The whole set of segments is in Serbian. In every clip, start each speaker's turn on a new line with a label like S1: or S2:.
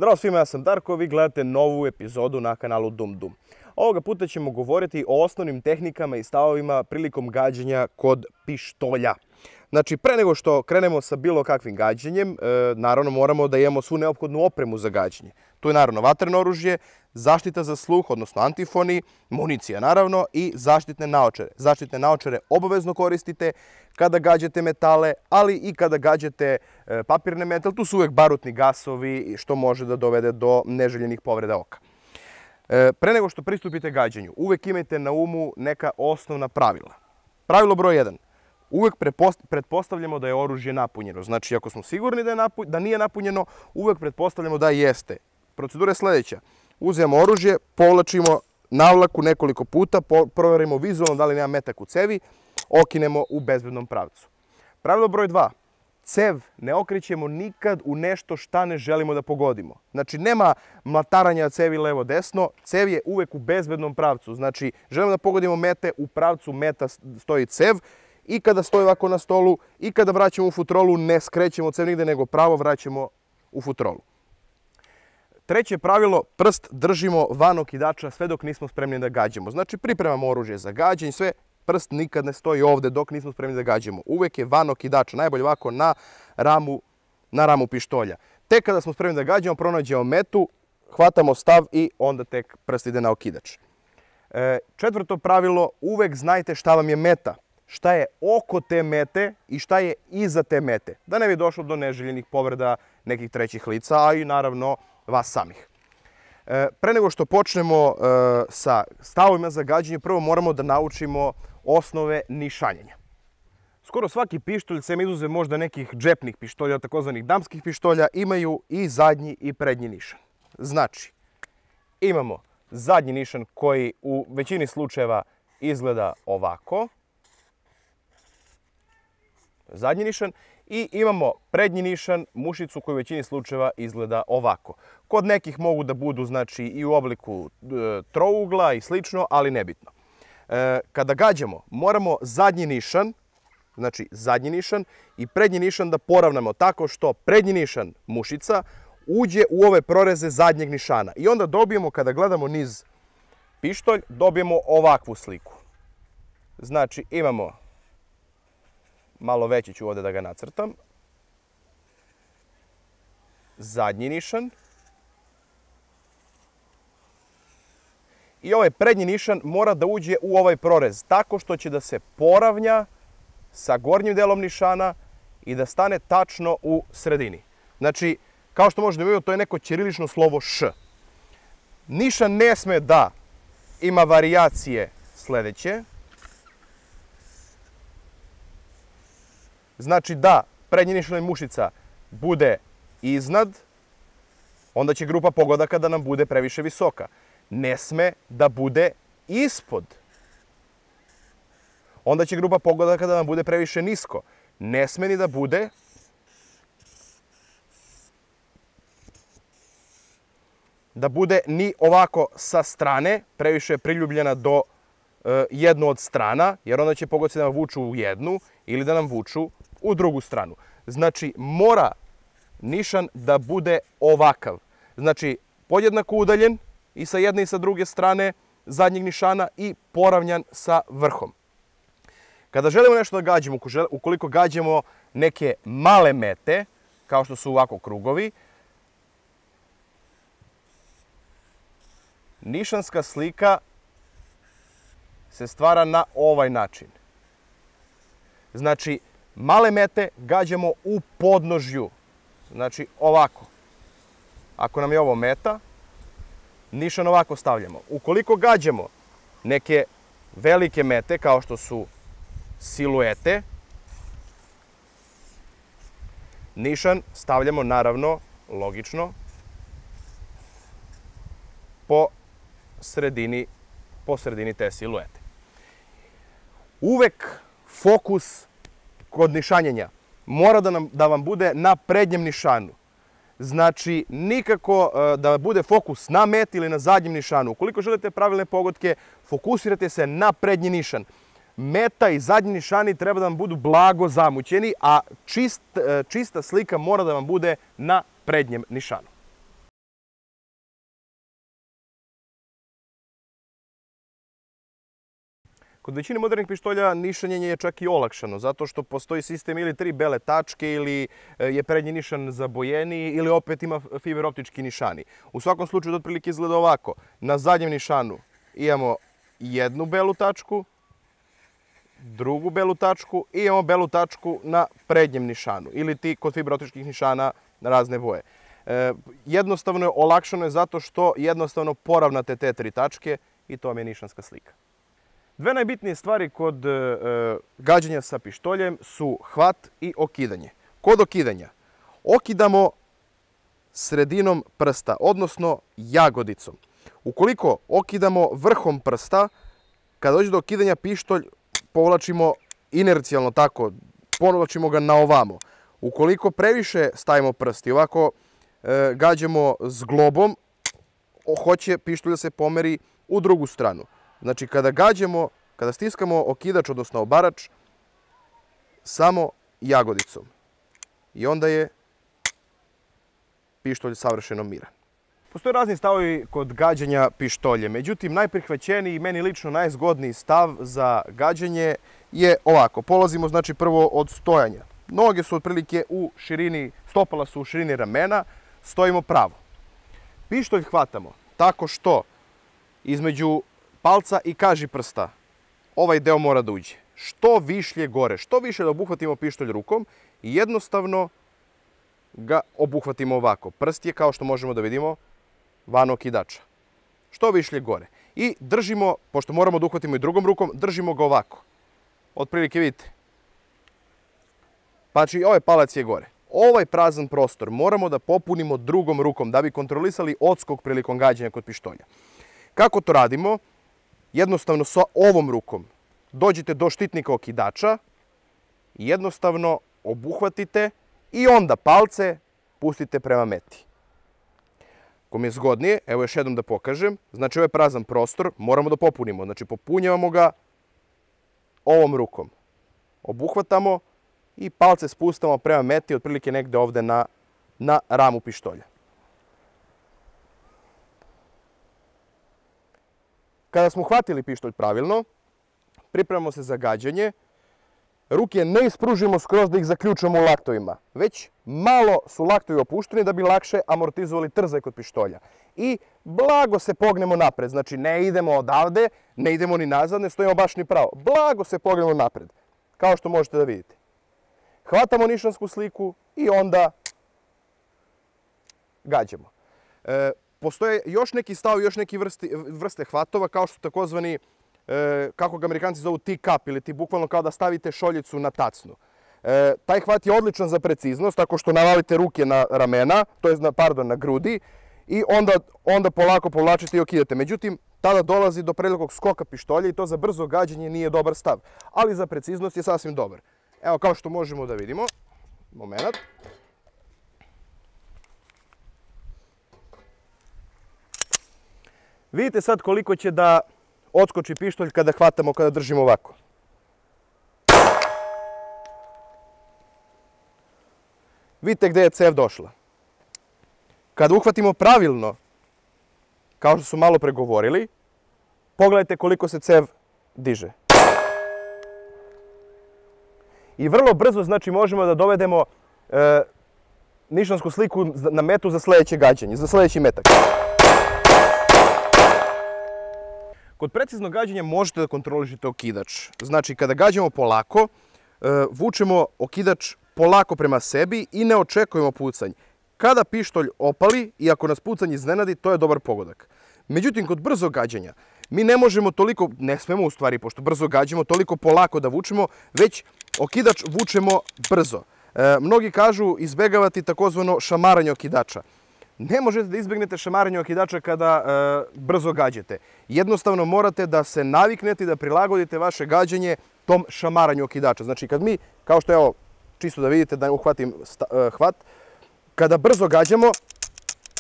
S1: Zdravo svima, ja sam Darko, vi gledate novu epizodu na kanalu Dum Dum. Ovoga puta ćemo govoriti o osnovnim tehnikama i stavovima prilikom gađanja kod pištolja. Znači, pre nego što krenemo sa bilo kakvim gađanjem, naravno moramo da imamo svu neophodnu opremu za gađanje. Tu je naravno vatreno oružje, zaštita za sluh, odnosno antifoni, municija naravno i zaštitne naočare. Zaštitne naočare obavezno koristite kada gađate metale, ali i kada gađate papirne metale. Tu su uvek barutni gasovi, što može da dovede do neželjenih povreda oka. Pre nego što pristupite gađanju, uvek imajte na umu neka osnovna pravila. Pravilo broj 1. Uvek pretpostavljamo da je oružje napunjeno. Znači, ako smo sigurni da nije napunjeno, uvek pretpostavljamo da jeste. Procedura je sljedeća. Uzmemo oružje, povlačimo navlaku nekoliko puta, proverimo vizualno da li nema metak u cevi, okinemo u bezbednom pravcu. Pravilo broj 2. Cev ne okrećemo nikad u nešto šta ne želimo da pogodimo. Znači, nema mlataranja cevi levo-desno, cev je uvek u bezbednom pravcu. Znači, želimo da pogodimo mete, u pravcu meta stoji cev i kada stoji ovako na stolu i kada vraćamo u futrolu ne skrećemo cev nigde, nego pravo vraćamo u futrolu. Treće pravilo, prst držimo van okidača sve dok nismo spremni da gađamo. Znači, pripremamo oružje za gađanje, sve, prst nikad ne stoji ovde dok nismo spremni da gađamo. Uvek je van okidača, najbolje ovako na ramu pištolja. Tek kada smo spremni da gađamo, pronađemo metu, hvatamo stav i onda tek prst ide na okidač. Četvrto pravilo, uvek znajte šta vam je meta, šta je oko te mete i šta je iza te mete. Da ne bi došlo do neželjenih povreda nekih trećih lica, a i naravno vas samih. Pre nego što počnemo sa stavovima za gađanje, prvo moramo da naučimo osnove nišanjenja. Skoro svaki pištolj, sem izuzev možda nekih džepnih pištolja, takozvanih damskih pištolja, imaju i zadnji i prednji nišan. Znači, imamo zadnji nišan koji u većini slučajeva izgleda ovako. Zadnji nišan. I imamo prednji nišan, mušicu koja u većini slučajeva izgleda ovako. Kod nekih mogu da budu znači i u obliku trougla i slično, ali nebitno. Kada gađamo, moramo zadnji nišan, znači zadnji nišan i prednji nišan da poravnamo tako što prednji nišan, mušica, uđe u ove proreze zadnjeg nišana. I onda dobijemo, kada gledamo niz pištolj, dobijemo ovakvu sliku. Znači imamo, malo veći ću ovdje da ga nacrtam, zadnji nišan i ovaj prednji nišan mora da uđe u ovaj prorez tako što će da se poravnja sa gornjim delom nišana i da stane tačno u sredini. Znači, kao što možete vidjeti, to je neko ćirilično slovo Š. Nišan ne sme da ima varijacije sljedeće. Znači da prednji nišan i mušica bude iznad, onda će grupa pogodaka da nam bude previše visoka. Ne sme da bude ispod. Onda će grupa pogodaka da nam bude previše nisko. Ne sme ni da bude ni ovako sa strane, previše priljubljena do jednu od strana, jer onda će pogodci da nam vuču u jednu ili da nam vuču u drugu stranu. Znači, mora nišan da bude ovakav. Znači, podjednako udaljen i sa jedne i sa druge strane zadnjeg nišana i poravnjan sa vrhom. Kada želimo nešto da gađamo, ukoliko gađamo neke male mete, kao što su ovako krugovi, nišanska slika se stvara na ovaj način. Znači, male mete gađamo u podnožju. Znači, ovako. Ako nam je ovo meta, nišan ovako stavljamo. Ukoliko gađamo neke velike mete, kao što su siluete, nišan stavljamo, naravno, logično, po sredini te siluete. Uvek fokus kod nišanjenja mora da vam bude na prednjem nišanu. Znači, nikako da bude fokus na meti ili na zadnjem nišanu. Ukoliko želite pravilne pogodke, fokusirate se na prednji nišan. Meta i zadnji nišani treba da vam budu blago zamućeni, a čista slika mora da vam bude na prednjem nišanu. Kod većine modernih pištolja nišanjenje je čak i olakšano, zato što postoji sistem ili 3 bele tačke, ili je prednji nišan zabojeniji, ili opet ima fiberoptički nišani. U svakom slučaju to otprilike izgleda ovako. Na zadnjem nišanu imamo jednu belu tačku, drugu belu tačku i imamo belu tačku na prednjem nišanu, ili ti kod fiberoptičkih nišana na razne boje. Jednostavno je olakšano zato što jednostavno poravnate te 3 tačke i to vam je nišanska slika. Dve najbitnije stvari kod gađanja sa pištoljem su hvat i okidanje. Kod okidanja okidamo sredinom prsta, odnosno jagodicom. Ukoliko okidamo vrhom prsta, kada dođe do okidanja pištolj povlačimo inercijalno tako, povlačimo ga na ovamo. Ukoliko previše stavimo prst i ovako gađamo zglobom, hoće pištolj da se pomeri u drugu stranu. Znači, kada stiskamo okidač, odnosno obarač, samo jagodicom. I onda je pištolj savršeno miran. Postoje razni stavovi kod gađanja pištoljem. Međutim, najprihvaćeniji i meni lično najzgodniji stav za gađanje je ovako. Polazimo znači prvo od stojanja. Noge su otprilike u širini, stopala su u širini ramena, stojimo pravo. Pištolj hvatamo tako što između palca i kaži prsta ovaj deo mora da uđe. Što višlje gore, što više da obuhvatimo pištolj rukom i jednostavno ga obuhvatimo ovako. Prst je, kao što možemo da vidimo, van okidača. Što višlje gore. I držimo, pošto moramo da uhvatimo i drugom rukom, držimo ga ovako. Otprilike vidite. Znači, ovaj palac je gore. Ovaj prazan prostor moramo da popunimo drugom rukom da bi kontrolisali odskok prilikom gađanja kod pištolja. Kako to radimo? Jednostavno sa ovom rukom dođete do štitnika okidača, jednostavno obuhvatite i onda palce pustite prema meti. Ako mi je zgodnije, evo još jednom da pokažem, znači ovaj prazan prostor moramo da popunimo, znači popunjavamo ga ovom rukom. Obuhvatamo i palce spustamo prema meti, otprilike negde ovde na ramu pištolja. Kada smo hvatili pištolj pravilno, pripremamo se za gađanje. Ruke ne ispružimo skroz da ih zaključamo u laktovima, već malo su laktovi opušteni da bi lakše amortizovali trzaj kod pištolja. I blago se pognemo napred, znači ne idemo odavde, ne idemo ni nazad, ne stojimo baš ni pravo. Blago se pognemo napred, kao što možete da vidite. Hvatamo nišansku sliku i onda gađamo. Postoje još neki stavovi, još neki vrste hvatova, kao što su takozvani, kako ga Amerikanci zovu, tee-cup, ili ti bukvalno kao da stavite šoljicu na tacnu. Taj hvat je odličan za preciznost, tako što navalite ruke na ramena, to je, na grudi, i onda polako povlačite i okidate. Međutim, tada dolazi do prevelikog skoka pištolja i to za brzo gađanje nije dobar stav, ali za preciznost je sasvim dobar. Evo, kao što možemo da vidimo, moment. Vidite sad koliko će da odskoči pištolj kada hvatamo, kada držimo ovako. Vidite gde je cev došla. Kada uhvatimo pravilno, kao što su malo pregovorili, pogledajte koliko se cev diže. I vrlo brzo, znači, možemo da dovedemo nišansku sliku na metu za sledeće gađanje, za sledeći metak. Kod preciznog gađanja možete da kontrolišete okidač. Znači, kada gađamo polako, vučemo okidač polako prema sebi i ne očekujemo pucanj. Kada pištolj opali i ako nas pucanj iznenadi, to je dobar pogodak. Međutim, kod brzog gađanja, mi ne možemo toliko, ne smemo u stvari, pošto brzo gađamo, toliko polako da vučemo, već okidač vučemo brzo. Mnogi kažu izbegavati takozvano šamaranje okidača. Ne možete da izbegnete šamaranje okidača kada brzo gađate. Jednostavno morate da se naviknete i da prilagodite vaše gađanje tom šamaranju okidača. Znači, kad mi, kao što evo, čisto da vidite da uhvatim hvat, kada brzo gađamo,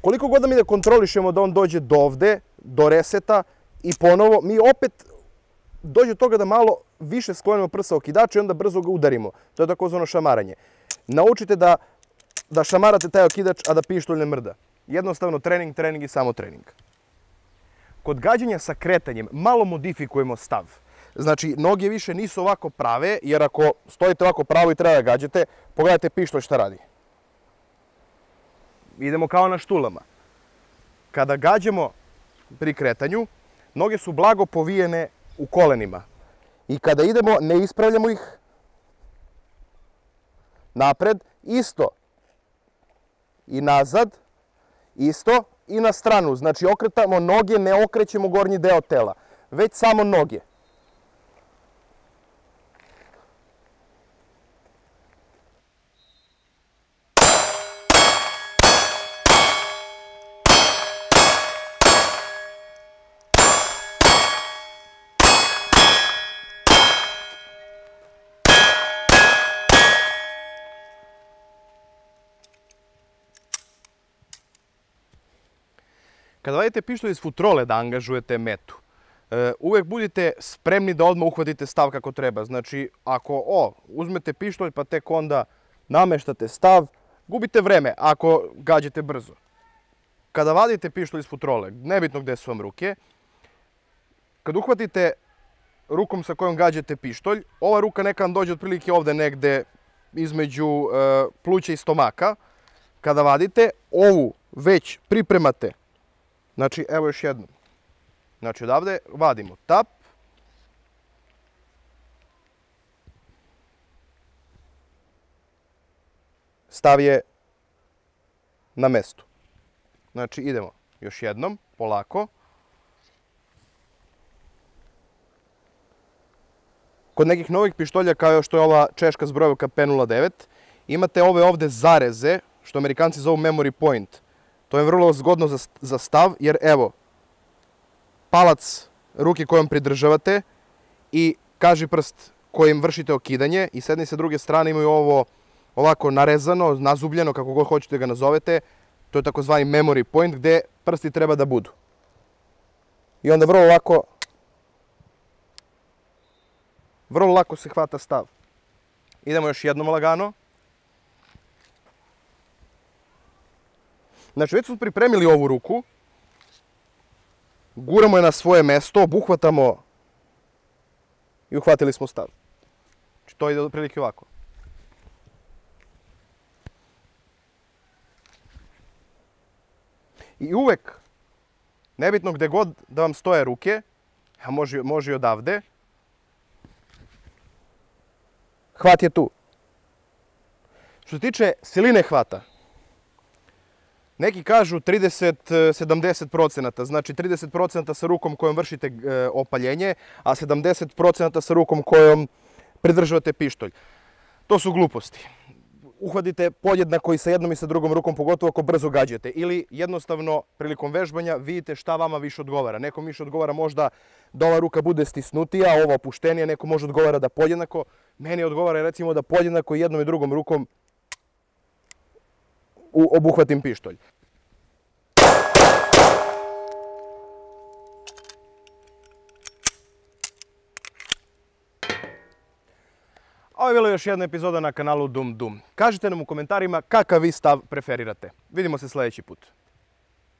S1: koliko god da mi da kontrolišemo da on dođe do ovde, do reseta i ponovo, mi opet dođe do toga da malo više sklonimo prsa okidača i onda brzo ga udarimo. To je takozvano šamaranje. Naučite da šamarate taj okidač, a da pištolj ne mrda. Jednostavno trening, trening i samo trening. Kod gađanja sa kretanjem malo modifikujemo stav. Znači, noge više nisu ovako prave, jer ako stojite ovako pravo i treba da gađate, pogledajte pištolj šta radi. Idemo kao na štulama. Kada gađamo pri kretanju, noge su blago povijene u kolenima. I kada idemo, ne ispravljamo ih napred, isto. I nazad, isto. I na stranu. Znači, okretamo noge, ne okrećemo gornji deo tela. Već samo noge. Kada vadite pištolj iz futrole da angažujete metu, uvek budite spremni da odmah uhvatite stav kako treba. Znači, ako uzmete pištolj pa tek onda nameštate stav, gubite vreme ako gađate brzo. Kada vadite pištolj iz futrole, nebitno gde su vam ruke, kad uhvatite rukom sa kojom gađate pištolj, ova ruka neka vam dođe otprilike ovde negde između pluća i stomaka. Kada vadite, ovu već pripremate. Znači, evo još jednom. Znači, odavde vadimo tap. Stav je na mestu. Znači, idemo još jednom, polako. Kod nekih novih pištolja, kao što je ova češka zbrojevka P09, imate ove ovde zareze, što Amerikanci zovu memory point. To je vrlo zgodno za stav, jer evo, palac ruke kojom pridržavate i kaži prst kojim vršite okidanje i s jedne i sa druge strane imaju ovo ovako narezano, nazubljeno, kako god hoćete ga nazovete. To je takozvani memory point gde prsti treba da budu. I onda vrlo lako se hvata stav. Idemo još jednom lagano. Znači, već smo pripremili ovu ruku, guramo je na svoje mesto, obuhvatamo i uhvatili smo stav. Znači, to ide otprilike ovako. I uvek, nebitno gde god da vam stoje ruke, a može i odavde, hvat je tu. Što se tiče siline hvata, neki kažu 30-70%, znači 30% sa rukom kojom vršite opaljenje, a 70% sa rukom kojom pridržavate pištolj. To su gluposti. Uhvatite podjednako i sa jednom i sa drugom rukom, pogotovo ako brzo gađate. Ili jednostavno, prilikom vežbanja, vidite šta vama više odgovara. Nekom više odgovara možda da ova ruka bude stisnutija, ova opuštenija, neko može odgovara da podjednako. Meni odgovara recimo da podjednako i jednom i drugom rukom obuhvatim pištolj. Ovo je bila još jedna epizoda na kanalu Dum Dum. Kažite nam u komentarima kakav vi stav preferirate. Vidimo se sljedeći put.